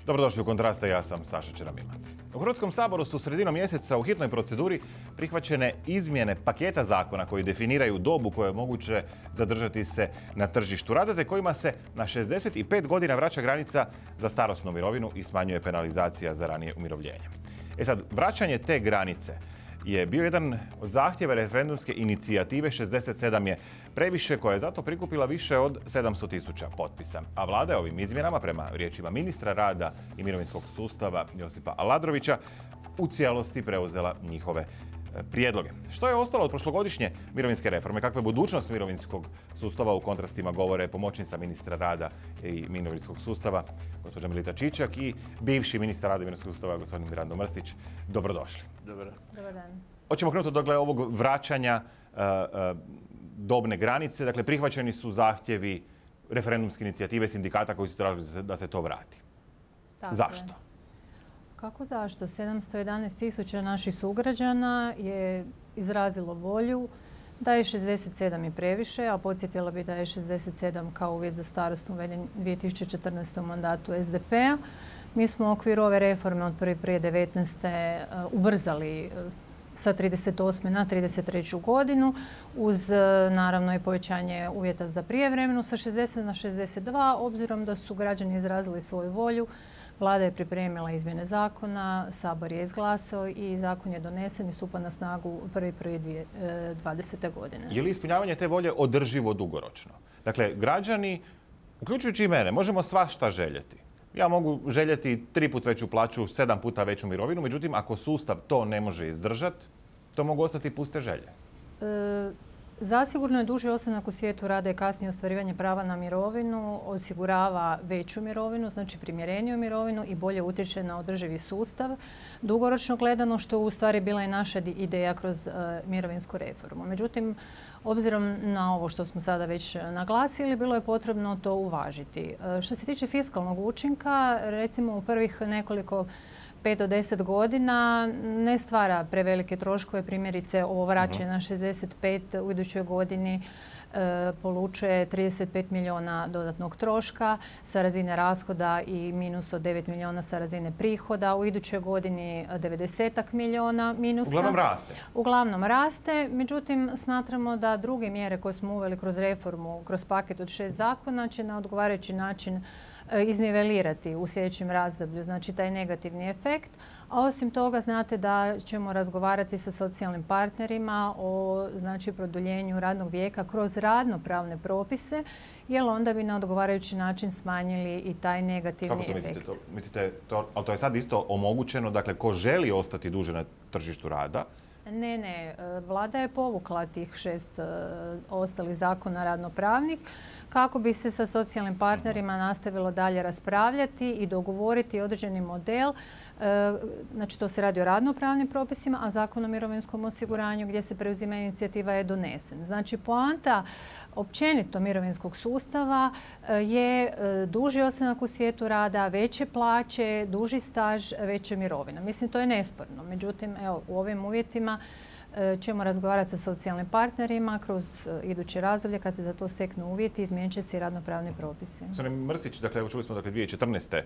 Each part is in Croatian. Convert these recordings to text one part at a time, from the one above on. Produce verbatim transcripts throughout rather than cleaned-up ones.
Dobrodošli u Kontraste, ja sam Saša Čeramilac. U Hrvatskom saboru su sredinom mjeseca u hitnoj proceduri prihvaćene izmjene paketa zakona koji definiraju dobu koje je moguće zadržati se na tržištu rada, te kojima se na šezdeset pet godina vraća granica za starosnu mirovinu i smanjuje penalizacija za ranije umirovljenje. E sad, vraćanje te granice je bio jedan od zahtjeva referendumske inicijative šezdeset sedam je previše, koja je zato prikupila više od sedamsto tisuća potpisa. A vlada je ovim izmjenama, prema riječima ministra rada i mirovinskog sustava Josipa Aladrovića, u cijelosti preuzela njihove prijedloge. Što je ostalo od prošlogodišnje mirovinske reforme? Kakva je budućnost mirovinskog sustava? U kontrastima govore pomoćnica ministra rada i mirovinskog sustava, gospođa Melita Čičak, i bivši ministar rada i mirovinskog sustava, gospodin Mirando Mrsić. Dobrodošli. Dobar. Dobar dan. Hoćemo krenuti od dakle, ovog vraćanja uh, uh, dobne granice. Dakle, prihvaćeni su zahtjevi referendumske inicijative sindikata koji su tražili da se to vrati. Tako Zašto? Je. Kako zašto? sedamsto jedanaest tisuća naših sugrađana je izrazilo volju da je šezdeset sedam i previše, a podsjetila bi da je šezdeset sedam kao uvjet za starosnu uveden dvije tisuće četrnaeste. u mandatu S D P-a. Mi smo u okviru ove reforme od prvog prvog devetnaeste. ubrzali sa trideset osme na trideset treću godinu, uz naravno i povećanje uvjeta za prijevremenu sa šezdeset na šezdeset dva, obzirom da su građani izrazili svoju volju. Vlada je pripremila izmjene zakona, Sabor je izglasao i zakon je donesen i stupa na snagu prvog prvog dvadesete. godine. Je li ispunjavanje te volje održivo dugoročno? Dakle, građani, uključujući i mene, možemo svašta željeti. Ja mogu željeti tri put veću plaću, sedam puta veću mirovinu, međutim, ako sustav to ne može izdržati, to mogu ostati puste želje. E, Zasigurno je duži ostanak u svijetu rada i kasnije ostvarivanje prava na mirovinu osigurava veću mirovinu, znači primjereniju mirovinu i bolje utječe na održivi sustav. Dugoročno gledano, što je u stvari bila i naša ideja kroz uh, mirovinsku reformu. Međutim, obzirom na ovo što smo sada već naglasili, bilo je potrebno to uvažiti. Uh, što se tiče fiskalnog učinka, recimo u prvih nekoliko pet do deset godina ne stvara prevelike troškove. Primjerice, ovo vraćanje na šezdeset pet u idućoj godini e, polučuje trideset pet milijuna dodatnog troška sa razine rashoda i minus od devet milijuna sa razine prihoda. U idućoj godini devedeset milijuna minusa. Uglavnom raste. Uglavnom raste. Međutim, smatramo da druge mjere koje smo uveli kroz reformu, kroz paket od šest zakona, će na odgovarajući način iznivelirati u sljedećem razdoblju, znači taj negativni efekt. A osim toga, znate da ćemo razgovarati sa socijalnim partnerima o znači, produljenju radnog vijeka kroz radnopravne propise, jer onda bi na odgovarajući način smanjili i taj negativni efekt. Kako to efekt. mislite? To, mislite to, ali to je sad isto omogućeno, dakle, ko želi ostati duže na tržištu rada? Ne, ne. Vlada je povukla tih šest ostalih zakona radnopravnih kako bi se sa socijalnim partnerima nastavilo dalje raspravljati i dogovoriti određeni model. Znači, to se radi o radnopravnim propisima, a Zakon o mirovinskom osiguranju gdje se preuzima inicijativa je donesen. Znači, poanta općenito mirovinskog sustava je duži ostanak u svijetu rada, veće plaće, duži staž, veće mirovine. Mislim, to je nesporno. Međutim, evo, u ovim uvjetima ćemo razgovarati sa socijalnim partnerima kroz iduće razdoblje kad se za to steknu uvjeti, izmijenit će se i radnopravni propisi. Gospodin Mrsić, dakle, čuli smo dakle, dvije tisuće četrnaeste.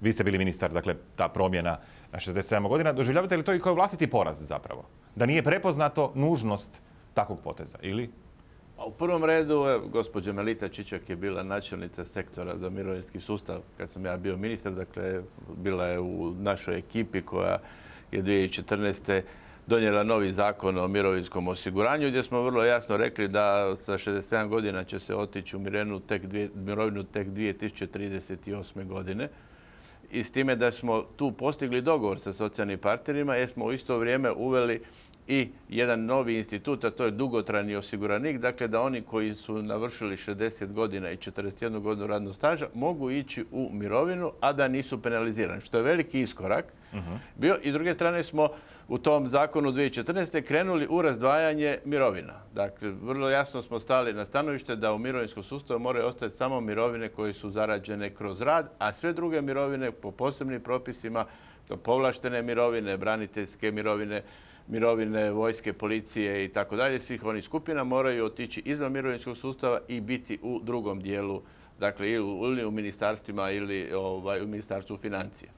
Vi ste bili ministar, dakle, ta promjena na šezdeset sedam godina. Doživljavate li to i kao vlastiti poraz zapravo? Da nije prepoznato nužnost takvog poteza, ili? U prvom redu, gospođa Melita Čičak je bila načelnica sektora za mirovinski sustav kad sam ja bio ministar. Dakle, bila je u našoj ekipi koja je dvije tisuće četrnaeste. donijela novi zakon o mirovinskom osiguranju gdje smo vrlo jasno rekli da sa šezdeset sedam godina će se otići u mirovinu tek, dvije, mirovinu tek dvije tisuće trideset osme. godine. I s time da smo tu postigli dogovor sa socijalnim partnerima jer smo u isto vrijeme uveli i jedan novi institut, a to je dugotrajni osiguranik. Dakle, da oni koji su navršili šezdeset godina i četrdeset jednu godinu radnog staža mogu ići u mirovinu, a da nisu penalizirani, što je veliki iskorak uh-huh. bio. I s druge strane smo u tom zakonu dvije tisuće četrnaeste. krenuli u razdvajanje mirovina. Dakle, vrlo jasno smo stali na stanovište da u mirovinskom sustavu moraju ostati samo mirovine koje su zarađene kroz rad, a sve druge mirovine po posebnim propisima, to povlaštene mirovine, braniteljske mirovine, mirovine vojske, policije i tako dalje, svih onih skupina moraju otići izvan mirovinskog sustava i biti u drugom dijelu dakle ili u ministarstvima ili ovaj, u ministarstvu financija.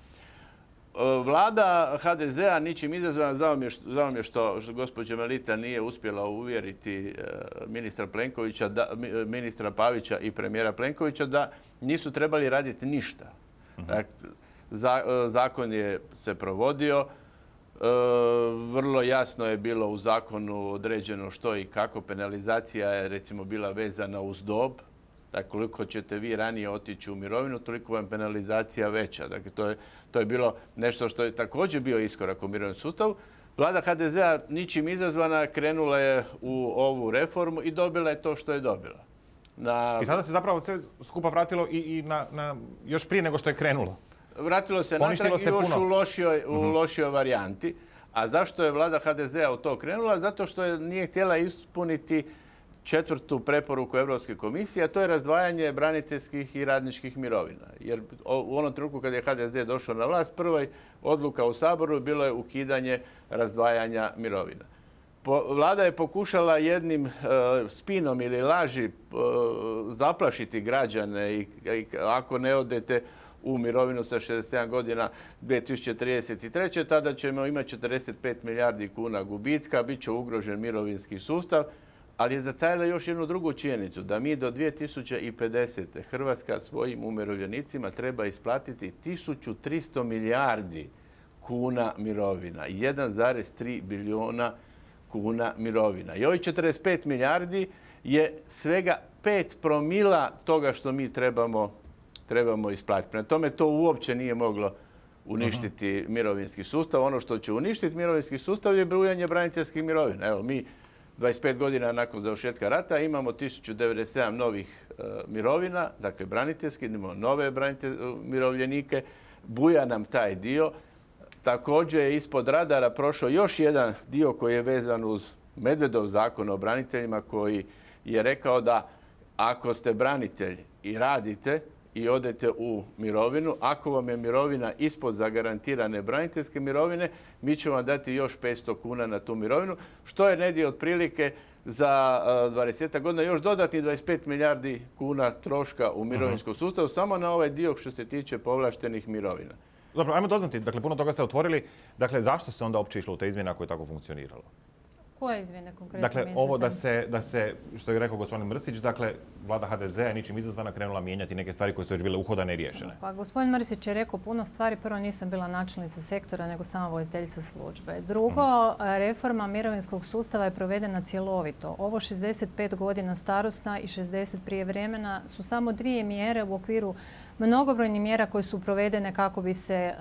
Vlada ha de zea ničim izazvana, žao mi je što, žao mi je što, što gospođa Melita nije uspjela uvjeriti ministra Plenkovića, da, ministra Pavića i premijera Plenkovića da nisu trebali raditi ništa. Dakle, zakon je se provodio, vrlo jasno je bilo u zakonu određeno što i kako. Penalizacija je recimo bila vezana uz dob. Dakle, koliko ćete vi ranije otići u mirovinu, toliko vam penalizacija veća. Dakle, to je, to je bilo nešto što je također bio iskorak u mirovinskom sustavu. Vlada ha de zea ničim izazvana krenula je u ovu reformu i dobila je to što je dobila. Na... I sada se zapravo sve skupa vratilo i, i na, na, još prije nego što je krenulo. Vratilo se natrag i još puno. u lošijoj, u uh-huh. lošijoj varijanti. A zašto je vlada ha de zea u to krenula? Zato što je nije htjela ispuniti četvrtu preporuku Europske komisije, a to je razdvajanje braniteljskih i radničkih mirovina. Jer u onom trenutku kad je ha de ze došao na vlast, prva odluka u Saboru bilo je ukidanje razdvajanja mirovina. Vlada je pokušala jednim uh, spinom ili laži uh, zaplašiti građane i, i ako ne odete u mirovinu sa šezdeset sedam godina dvije tisuće trideset treće. tada ćemo imati četrdeset pet milijardi kuna gubitka, bit će ugrožen mirovinski sustav, ali je zatajila još jednu drugu činjenicu, da mi do dvije tisuće pedesete. Hrvatska svojim umirovljenicima treba isplatiti tisuću tristo milijardi kuna mirovina, jedan zarez tri bilijuna kuna mirovina. I ovih četrdeset pet milijardi je svega pet promila toga što mi trebamo, trebamo isplatiti. Prema tome to uopće nije moglo uništiti uh-huh. mirovinski sustav. Ono što će uništiti mirovinski sustav je brujanje braniteljskih mirovina. Evo, mi dvadeset pet godina nakon završetka rata imamo tisuću devedeset sedam novih uh, mirovina, dakle braniteljski, imamo nove umirovljenike, buja nam taj dio. Također je ispod radara prošao još jedan dio koji je vezan uz Medvedov zakon o braniteljima, koji je rekao da ako ste branitelj i radite i odete u mirovinu, ako vam je mirovina ispod zagarantirane braniteljske mirovine, mi ćemo vam dati još petsto kuna na tu mirovinu, što je negdje otprilike za dvadeset godina još dodatnih dvadeset pet milijardi kuna troška u mirovinskom sustavu, samo na ovaj dio što se tiče povlaštenih mirovina. Dobro, ajmo doznati, dakle, puno toga ste otvorili. Dakle, zašto se onda uopće išlo u te izmjene ako je tako funkcioniralo? Koje izmjene konkretno Dakle, mislite? ovo da se, da se, što je rekao gospodin Mrsić, dakle, vlada ha de zea je ničim izazvana krenula mijenjati neke stvari koje su već bile uhodane i riješene. Pa gospodin Mrsić je rekao puno stvari. Prvo, nisam bila načelnica sektora, nego samo voditeljica službe. Drugo, hmm. reforma mirovinskog sustava je provedena cjelovito. Ovo šezdeset pet godina starosna i šezdeset prije vremena su samo dvije mjere u okviru mnogobrojnih mjera koje su provedene kako bi se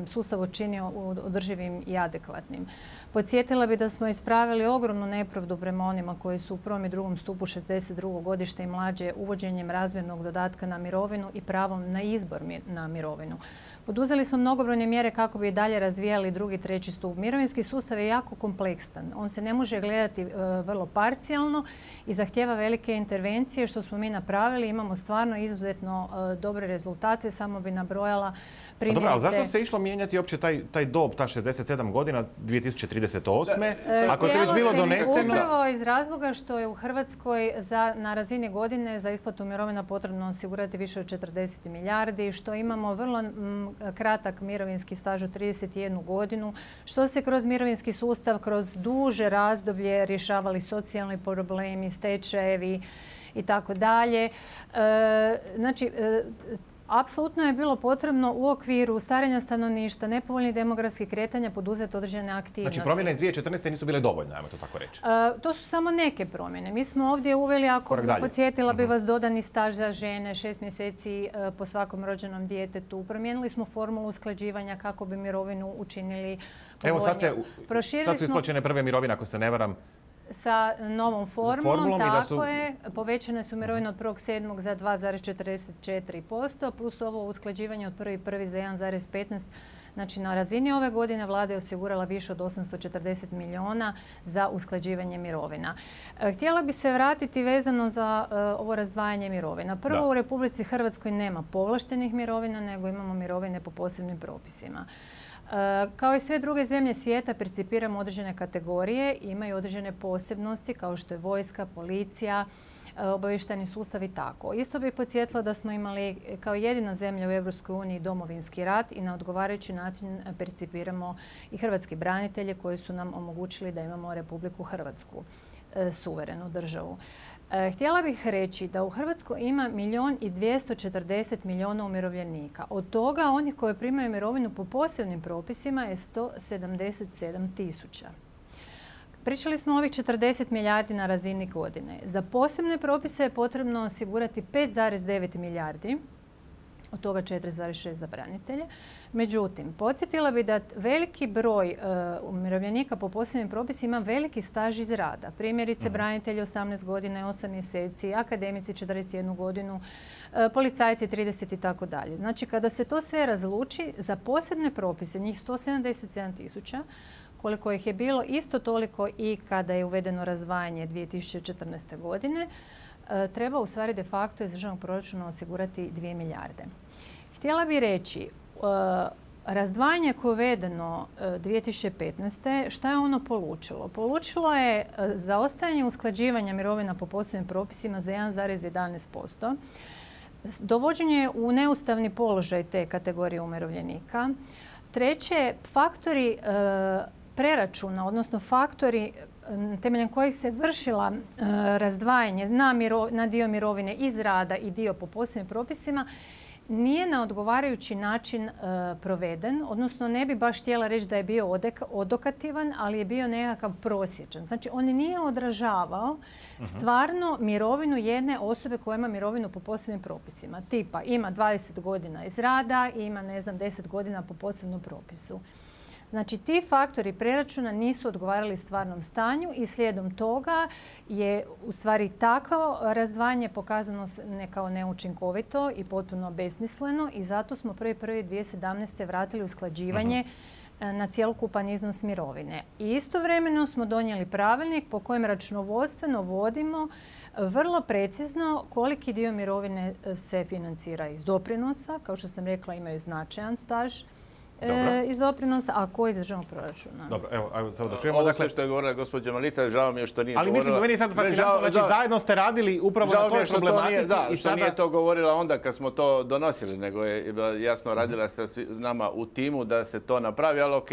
sustav učinio održivim i adekvatnim. Podsjetila bi da smo ispravili ogromnu nepravdu prema onima koji su u prvom i drugom stupu šezdeset drugo godište i mlađe uvođenjem razmjernog dodatka na mirovinu i pravom na izbor na mirovinu. Poduzeli smo mnogobrojne mjere kako bi dalje razvijali drugi i treći stup. Mirovinski sustav je jako kompleksan. On se ne može gledati vrlo parcijalno i zahtjeva velike intervencije, što smo mi napravili. Imamo stvarno izuzetno dobre rezultate. Samo bi nabrojala primjerice... Dobro, ali zašto se išlo mijenjati uopće taj, taj dob, ta šezdeset sedam godina, dvije tisuće trideset osme. Da. Ako je to već bilo doneseno... Upravo iz razloga što je u Hrvatskoj za, na razini godine za isplatu mirovina potrebno osigurati više od četrdeset milijardi, što imamo vrlo m, kratak mirovinski staž od trideset jednu godinu, što se kroz mirovinski sustav, kroz duže razdoblje rješavali socijalni problemi, stečajevi i tako dalje. Znači, apsolutno je bilo potrebno u okviru starenja stanovništva, nepovoljnih demografskih kretanja poduzeti određene aktivnosti. Znači, promjene iz dvije tisuće četrnaeste nisu bile dovoljne, ajmo to tako reći. Uh, to su samo neke promjene. Mi smo ovdje uveli, ako podsjetila bi vas, dodani staž za žene, šest mjeseci uh, po svakom rođenom djetetu. Promijenili smo formulu usklađivanja kako bi mirovinu učinili povoljnije. Evo sad, se, sad su isplaćene prve mirovine, ako se ne varam, sa novom formulom, formulom tako su... je. Povećane su mirovine od prvog sedmog za dva zarez četrdeset četiri posto, plus ovo usklađivanje od prvi prvi za jedan zarez petnaest. Znači, na razini ove godine vlada je osigurala više od osamsto četrdeset milijuna za usklađivanje mirovina. Htjela bi se vratiti vezano za uh, ovo razdvajanje mirovina. Prvo, da. U Republici Hrvatskoj nema povlaštenih mirovina, nego imamo mirovine po posebnim propisima. Kao i sve druge zemlje svijeta, percipiramo određene kategorije, imaju određene posebnosti kao što je vojska, policija, obavještajni sustav i tako. Isto bih podsjetila da smo imali kao jedina zemlja u Europskoj uniji domovinski rat i na odgovarajući način percipiramo i hrvatski branitelje koji su nam omogućili da imamo Republiku Hrvatsku, suverenu državu. Htjela bih reći da u Hrvatskoj ima milijun i dvjesto četrdeset milijuna umirovljenika. Od toga onih koji primaju mirovinu po posebnim propisima je sto sedamdeset sedam tisuća. Pričali smo o ovih četrdeset milijardi na razini godine. Za posebne propise je potrebno osigurati pet zarez devet milijardi, od toga četiri zarez šest za branitelje. Međutim, podsjetila bi da veliki broj uh, umirovljenika po posebnim propisima ima veliki staž iz rada. Primjerice, branitelji osamnaest godina i osam mjeseci, akademici četrdeset jednu godinu, uh, policajci trideset i tako dalje. Znači, kada se to sve razluči, za posebne propise, njih sto sedamdeset sedam tisuća, koliko ih je bilo, isto toliko i kada je uvedeno razdvajanje dvije tisuće četrnaeste. godine, treba u stvari de facto iz državnog proračuna osigurati dvije milijarde. Htjela bih reći, razdvajanje koje je uvedeno dvije tisuće petnaeste. šta je ono polučilo? Polučilo je zaostajanje usklađivanja mirovina po posebnim propisima za jedan zarez jedanaest posto. Dovođenje u neustavni položaj te kategorije umirovljenika. Treće, faktori preračuna, odnosno faktori temeljem kojih se vršila razdvajanje na, na dio mirovine iz rada i dio po posebnim propisima, nije na odgovarajući način proveden, odnosno ne bi baš htjela reći da je bio odokativan, ali je bio nekakav prosječan. Znači, on nije odražavao stvarno mirovinu jedne osobe koja ima mirovinu po posebnim propisima. Tipa, ima dvadeset godina iz rada i ima, ne znam, deset godina po posebnom propisu. Znači, ti faktori preračuna nisu odgovarali stvarnom stanju i slijedom toga je u stvari takvo razdvajanje pokazano ne kao neučinkovito i potpuno besmisleno i zato smo prvi prvi dvije tisuće sedamnaeste. vratili usklađivanje uh-huh. na cjelokupan iznos mirovine. I istovremeno smo donijeli pravilnik po kojem računovodstveno vodimo vrlo precizno koliki dio mirovine se financira iz doprinosa. Kao što sam rekla, imaju značajan staž E, iz doprinosa, a koji iz državnog proračuna. Dobro, evo, evo samo da čujemo. Ovo dakle, što je govorila gospođa Melita, žao mi je što nije ali govorila... Ali mislim, meni je sad fascinantno, znači zajedno ste radili upravo na toj problematici. Da, i što sada... nije to govorila onda kad smo to donosili, nego je jasno radila sa nama u timu da se to napravi, ali ok,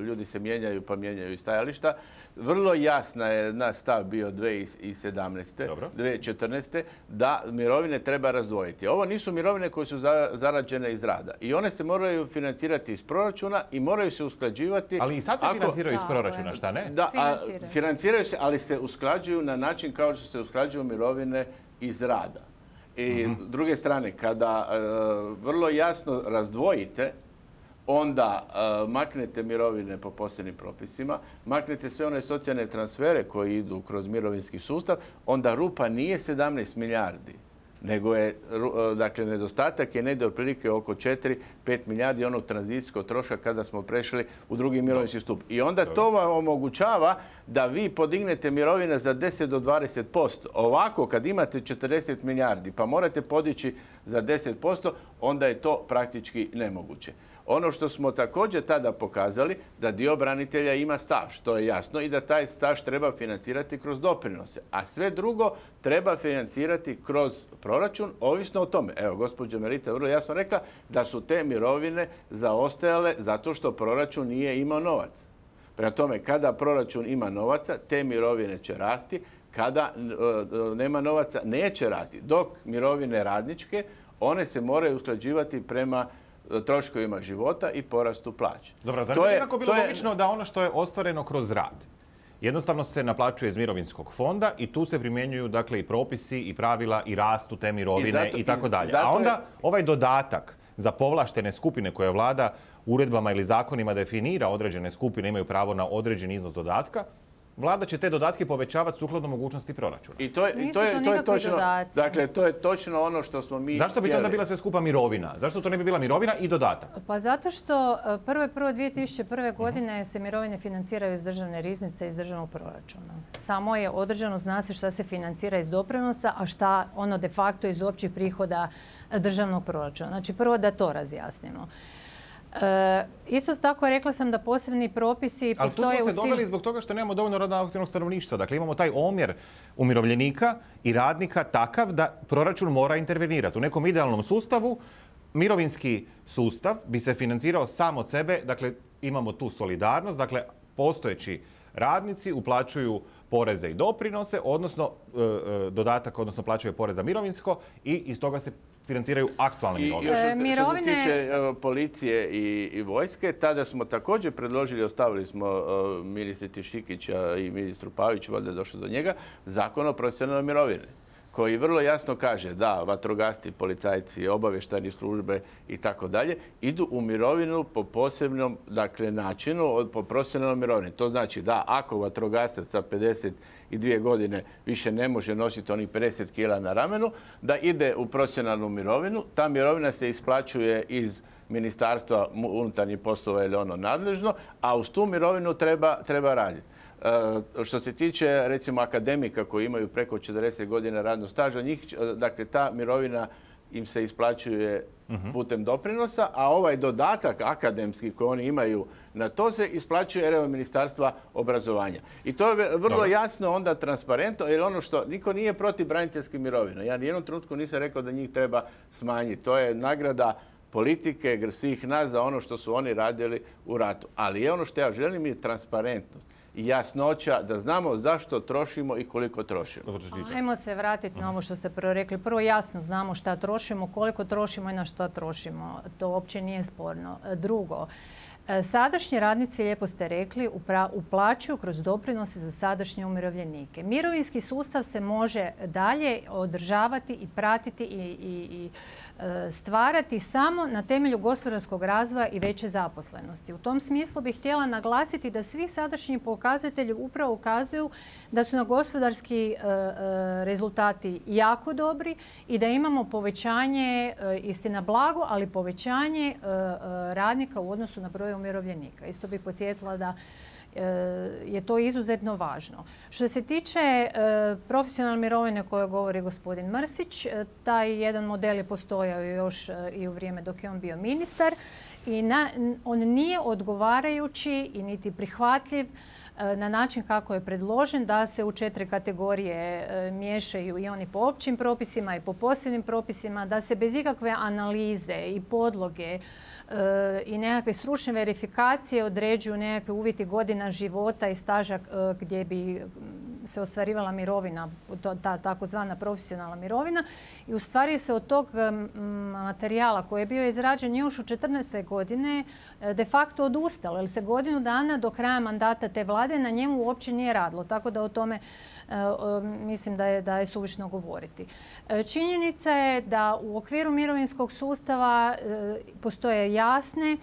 ljudi se mijenjaju pa mijenjaju i stajališta. Vrlo jasna je naš stav bio dvije tisuće sedamnaeste. Dobro. dvije tisuće četrnaeste. da mirovine treba razdvojiti. Ovo nisu mirovine koje su zarađene iz rada i one se moraju financirati iz proračuna i moraju se usklađivati. Ali i sad se ako... financiraju iz proračuna, šta ne? Da, a, financiraju se, ali se usklađuju na način kao što se usklađuju mirovine iz rada. I uh-huh. s druge strane, kada uh, vrlo jasno razdvojite, onda uh, maknete mirovine po posebnim propisima, maknete sve one socijalne transfere koji idu kroz mirovinski sustav, onda rupa nije sedamnaest milijardi, nego je, dakle, nedostatak je negdje otprilike oko četiri pet milijardi onog tranzicijskog troška kada smo prešli u drugi mirovinski stup. I onda to vam omogućava da vi podignete mirovine za deset do dvadeset posto. Ovako, kad imate četrdeset milijardi pa morate podići za deset posto, onda je to praktički nemoguće. Ono što smo također tada pokazali, da dio branitelja ima staž, to je jasno, i da taj staž treba financirati kroz doprinose. A sve drugo treba financirati kroz proračun, ovisno o tome. Evo, gospođa Melita vrlo jasno rekla da su te mirovine zaostajale zato što proračun nije imao novac. Prema tome, kada proračun ima novaca, te mirovine će rasti, kada e, nema novaca, neće rasti. Dok mirovine radničke, one se moraju usklađivati prema troškovima života i porastu plaće. Dobro, zar ne bi nekako bilo logično da ono što je ostvareno kroz rad jednostavno se naplaćuje iz mirovinskog fonda i tu se primjenjuju, dakle, i propisi i pravila i rastu te mirovine i, i tako dalje. A onda je... ovaj dodatak za povlaštene skupine koje vlada uredbama ili zakonima definira određene skupine, imaju pravo na određeni iznos dodatka, vlada će te dodatke povećavati sukladno mogućnosti proračuna. I to je, i to je, to je točno, dakle, to je točno ono što smo mi Zašto bi to onda bila sve skupa mirovina? Zašto to ne bi bila mirovina i dodatak? Pa zato što prvo prvo dvije tisuće prve. godine se mirovine financiraju iz državne riznice, iz državnog proračuna. Samo je određeno, zna se šta se financira iz doprinosa, a šta ono de facto iz općih prihoda državnog proračuna. Znači, prvo da to razjasnimo. E, isto tako rekla sam da posebni propisi postoje u svim... Ali tu smo se doveli zbog toga što nemamo dovoljno radno aktivnog stanovništva. Dakle, imamo taj omjer umirovljenika i radnika takav da proračun mora intervenirati. U nekom idealnom sustavu mirovinski sustav bi se financirao sam od sebe. Dakle, imamo tu solidarnost. Dakle, postojeći radnici uplaćuju poreze i doprinose, odnosno e, e, dodatak, odnosno plaćaju porez za mirovinsko i iz toga se financiraju aktualne mirovine. I još što se tiče policije i, i vojske, tada smo također predložili, ostavili smo uh, ministri Tišikića i ministru Paviću, valjda je došlo do njega, zakon o profesionalnoj mirovini, koji vrlo jasno kaže da vatrogasci, policajci, obavještajne službe i tako dalje idu u mirovinu po posebnom, dakle, načinu, od, po profesionalnoj mirovini. To znači da ako vatrogasac sa pedeset dvije godine više ne može nositi onih pedeset kila na ramenu, da ide u profesionalnu mirovinu. Ta mirovina se isplaćuje iz Ministarstva unutarnjih poslova ili ono nadležno, a uz tu mirovinu treba, treba raditi. E, što se tiče, recimo, akademika koji imaju preko četrdeset godina radnog staža, njih, dakle, ta mirovina im se isplaćuje putem doprinosa, a ovaj dodatak akademski koji oni imaju na to se isplaćuje evo Ministarstva obrazovanja. I to je vrlo Dobre. jasno onda transparentno, jer ono što niko nije protiv braniteljskih mirovina. Ja nijednom trenutku nisam rekao da njih treba smanjiti. To je nagrada politike, svih nas za ono što su oni radili u ratu. Ali je ono što ja želim je transparentnost i jasnoća da znamo zašto trošimo i koliko trošimo. Ajmo se vratiti na ovo što ste prvo rekli. Prvo jasno znamo šta trošimo, koliko trošimo i na što trošimo. To uopće nije sporno. Drugo, sadašnji radnici, lijepo ste rekli, uplaćuju kroz doprinose za sadašnje umirovljenike. Mirovinski sustav se može dalje održavati i pratiti i, i, i stvarati samo na temelju gospodarskog razvoja i veće zaposlenosti. U tom smislu bih htjela naglasiti da svi sadašnji pokazatelji upravo ukazuju da su na gospodarski rezultati jako dobri i da imamo povećanje, istina blago, ali povećanje radnika u odnosu na broj umirovljenika. Isto bih podsjetila da je to izuzetno važno. Što se tiče profesionalne mirovine koje govori gospodin Mrsić, taj jedan model je postojao još i u vrijeme dok je on bio ministar i na, on nije odgovarajući i niti prihvatljiv na način kako je predložen da se u četiri kategorije miješaju i oni po općim propisima i po posebnim propisima, da se bez ikakve analize i podloge i nekakve stručne verifikacije određuju nekakve uvjeti godina života i staža gdje bi se ostvarivala mirovina, ta takozvana profesionalna mirovina. I u stvari se od tog materijala koji je bio izrađen još u četrnaestoj godine de facto odustalo, jer se godinu dana do kraja mandata te vlade na njemu uopće nije radilo. Tako da o tome mislim da je, da je suvišno govoriti. Činjenica je da u okviru mirovinskog sustava postoje jasne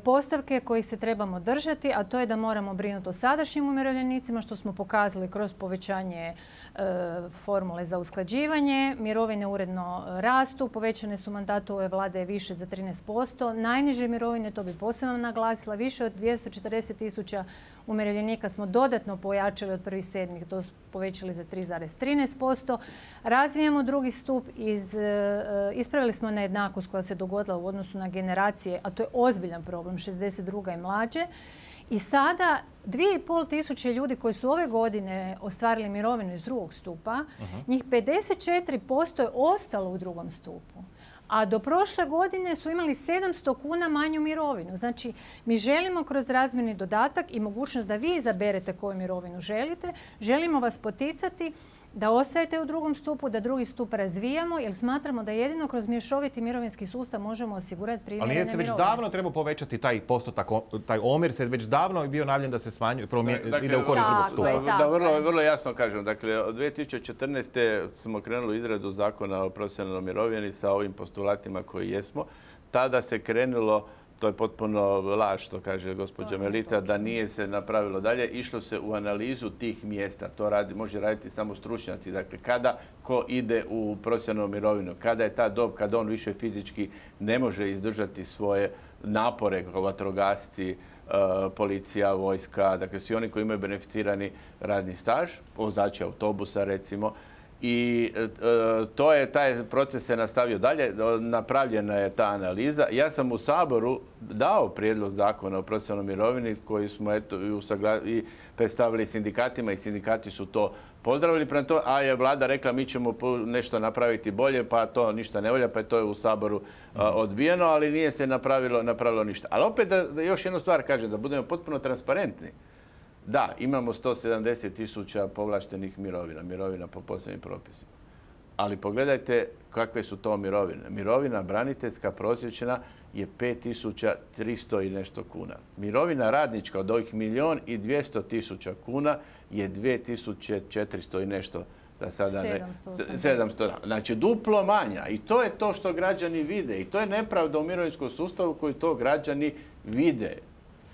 postavke kojih se trebamo držati, a to je da moramo brinuti o sadašnjim umirovljenicima, što smo pokazali kroz povećanje formule za usklađivanje. Mirovine uredno rastu, povećane su mandatu ove vlade više za trinaest posto. Najniže mirovine, to bi posebno naglasila, više od dvjesto četrdeset tisuća umirovljenika smo dodatno pojačali od prvog sedmog, to povećali za tri zarez trinaest posto. Razvijamo drugi stup, iz, ispravili smo nejednakost koja se dogodila u odnosu na generacije, a to je ozbiljan problem, šezdeset druga i mlađe. I sada dvije i pol tisuće ljudi koji su ove godine ostvarili mirovinu iz drugog stupa, uh-huh. njih pedeset četiri posto je ostalo u drugom stupu. A do prošle godine su imali sedamsto kuna manju mirovinu. Znači, mi želimo kroz razmjerni dodatak i mogućnost da vi izaberete koju mirovinu želite, želimo vas poticati da ostajete u drugom stupu, da drugi stup razvijamo, jer smatramo da jedino kroz mješoviti mirovinski sustav možemo osigurati primjerene mirovine. Ali nije se već davno treba povećati taj postotak, taj omjer se već davno je bio najavljen da se smanjuje, dakle, ide u korist drugog stupa. Da, da vrlo, vrlo jasno kažem. Dakle, od dvije tisuće četrnaeste smo krenuli u izradu zakona o profesionalnoj mirovini sa ovim postulatima koji jesmo. Tada se krenulo, to je potpuno laž što kaže gospođa Melita, da nije se napravilo dalje. Išlo se u analizu tih mjesta. To radi, može raditi samo stručnjaci. Dakle, kada ko ide u profesionalnu mirovinu, kada je ta dob, kada on više fizički ne može izdržati svoje napore kao vatrogasci, policija, vojska, dakle svi oni koji imaju beneficirani radni staž, vozači autobusa recimo, I e, to je, taj proces se nastavio dalje, napravljena je ta analiza. Ja sam u Saboru dao prijedlog zakona o profesionalnoj mirovini koji smo eto, i predstavili sindikatima i sindikati su to pozdravili, prema to, a je vlada rekla mi ćemo nešto napraviti bolje, pa to ništa ne volja, pa je to u Saboru a, odbijeno, ali nije se napravilo, napravilo ništa. Ali opet da, da još jednu stvar kažem, da budemo potpuno transparentni. Da, imamo sto sedamdeset tisuća povlaštenih mirovina, mirovina po posebnim propisima. Ali pogledajte kakve su to mirovine. Mirovina braniteljska prosječna je pet tisuća tristo i nešto kuna. Mirovina radnička od ovih milijun i dvjesto tisuća kuna je dvije tisuće četiristo i nešto. Da sada ne, sedamsto. Znači duplo manja. I to je to što građani vide. I to je nepravda u mirovinskom sustavu koji to građani vide.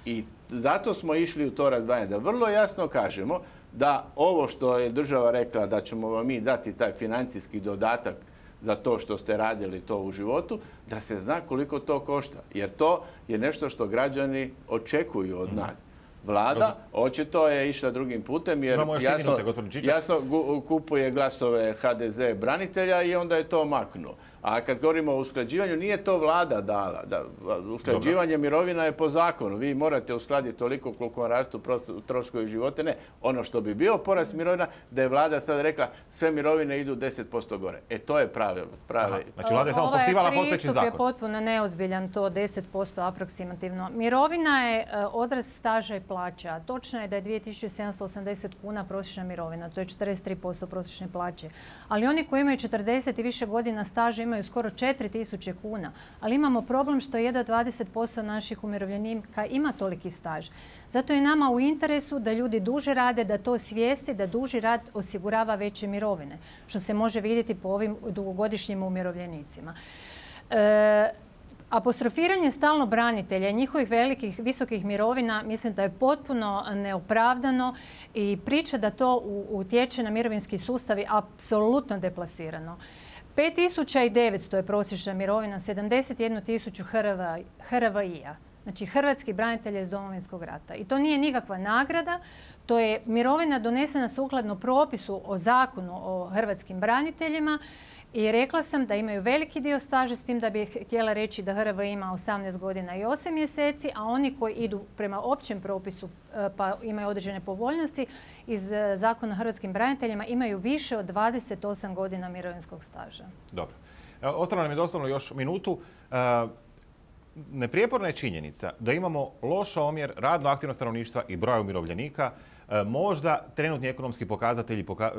I zato smo išli u to razdvajanje, da vrlo jasno kažemo da ovo što je država rekla da ćemo vam mi dati taj financijski dodatak za to što ste radili to u životu, da se zna koliko to košta. Jer to je nešto što građani očekuju od nas. Vlada očito je išla drugim putem jer jasno, jasno kupuje glasove ha de ze branitelja i onda je to maknuo. A kad govorimo o usklađivanju, nije to vlada dala. Da, usklađivanje Dobre. mirovina je po zakonu. Vi morate uskladiti toliko koliko vam rastu troškovi života. Ne, ono što bi bio porast mirovina, da je vlada sad rekla sve mirovine idu deset posto gore. E to je pravilo. Pravi. Znači vlada je samo poštivala postojeći zakon. Ovaj pristup je potpuno neozbiljan, to deset posto aproksimativno. Mirovina je odraz staža i plaća. Točno je da je dvije tisuće sedamsto osamdeset kuna prosječna mirovina. To je četrdeset tri posto prosječne plaće. Ali oni koji imaju četrdeset i više godina staža imaju skoro četiri tisuće kuna. Ali imamo problem što jedva dvadeset posto naših umirovljenika ima toliki staž. Zato je nama u interesu da ljudi duže rade, da to svijesti, da duži rad osigurava veće mirovine. Što se može vidjeti po ovim dugogodišnjim umirovljenicima. E, Apostrofiranje stalno branitelja i njihovih velikih, visokih mirovina mislim da je potpuno neopravdano i priča da to utječe na mirovinski sustav je apsolutno deplasirano. pet tisuća devetsto je prosječna mirovina, sedamdeset jednu tisuću ha er va i-a. Znači hrvatski branitelja iz Domovinskog rata. I to nije nikakva nagrada, to je mirovina donesena sukladno propisu o zakonu o hrvatskim braniteljima i rekla sam da imaju veliki dio staža, s tim da bih htjela reći da ha er va i ima osamnaest godina i osam mjeseci, a oni koji idu prema općem propisu pa imaju određene povoljnosti iz zakona o hrvatskim braniteljima imaju više od dvadeset osam godina mirovinskog staža. Dobro. Ostalo nam je doslovno još minutu. Neprijeporna je činjenica da imamo loš omjer radno aktivnog stanovništva i broja umirovljenika. Možda trenutni ekonomski pokazatelji poka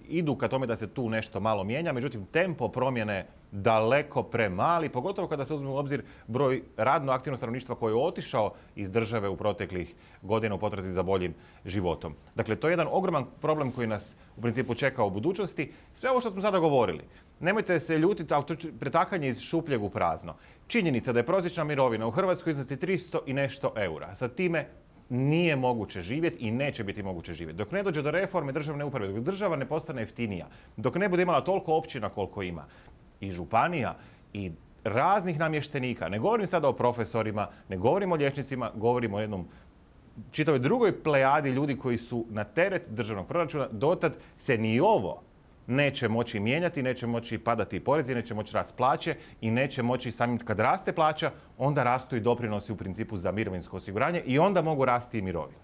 idu ka tome da se tu nešto malo mijenja, međutim tempo promjene daleko premali, pogotovo kada se uzme u obzir broj radno aktivnog stanovništva koji je otišao iz države u proteklih godina u potrazi za boljim životom. Dakle, to je jedan ogroman problem koji nas u principu čeka u budućnosti. Sve ovo što smo sada govorili, nemojte se ljutiti, ali to je pretakanje iz šupljeg u prazno. Činjenica da je prosječna mirovina u Hrvatskoj iznosi tristo i nešto eura. Sa time nije moguće živjeti i neće biti moguće živjeti. Dok ne dođe do reforme državne uprave, dok država ne postane jeftinija, dok ne bude imala toliko općina koliko ima i županija i raznih namještenika, ne govorim sada o profesorima, ne govorim o liječnicima, govorim o jednom čitavoj drugoj plejadi ljudi koji su na teret državnog proračuna, dotad se ni ovo neće moći mijenjati, neće moći padati porezi, neće moći rast plaće i neće moći samim kad raste plaća, onda rastu i doprinosi u principu za mirovinsko osiguranje i onda mogu rasti i mirovine.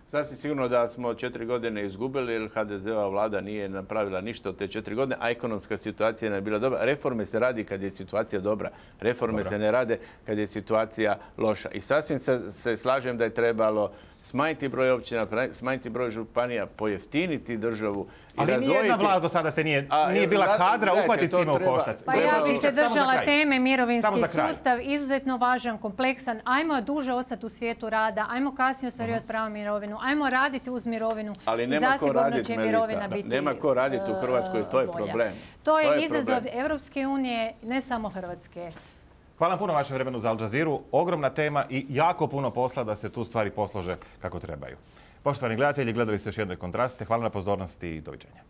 Sasvim sigurno da smo četiri godine izgubili jer ha de ze-ova vlada nije napravila ništa od te četiri godine, a ekonomska situacija je bila dobra. Reforme se radi kad je situacija dobra. Reforme dobra. se ne rade kad je situacija loša. I sasvim se, se slažem da je trebalo smanjiti broj općina, smanjiti broj županija, pojeftiniti državu. Ali razvojiti... nijedna vlast do sada se nije, a, nije bila zato, kadra uhvatiti s time u koštac. Pa ja bih se držala teme mirovinski sustav, izuzetno važan, kompleksan. Ajmo duže ostati u svijetu rada, ajmo kasnije ostvarivati uh-huh. pravo mirovinu, ajmo raditi uz mirovinu. Ali nema ko raditi, Melita. Nema ko raditi u Hrvatskoj, to je problem. To je, to je izazov Europske unije, ne samo Hrvatske. Hvala vam puno vašem vremenu za Al Jazeeru. Ogromna tema i jako puno posla da se tu stvari poslože kako trebaju. Poštovani gledatelji, gledali ste još jedne kontraste. Hvala na pozornosti i doviđenja.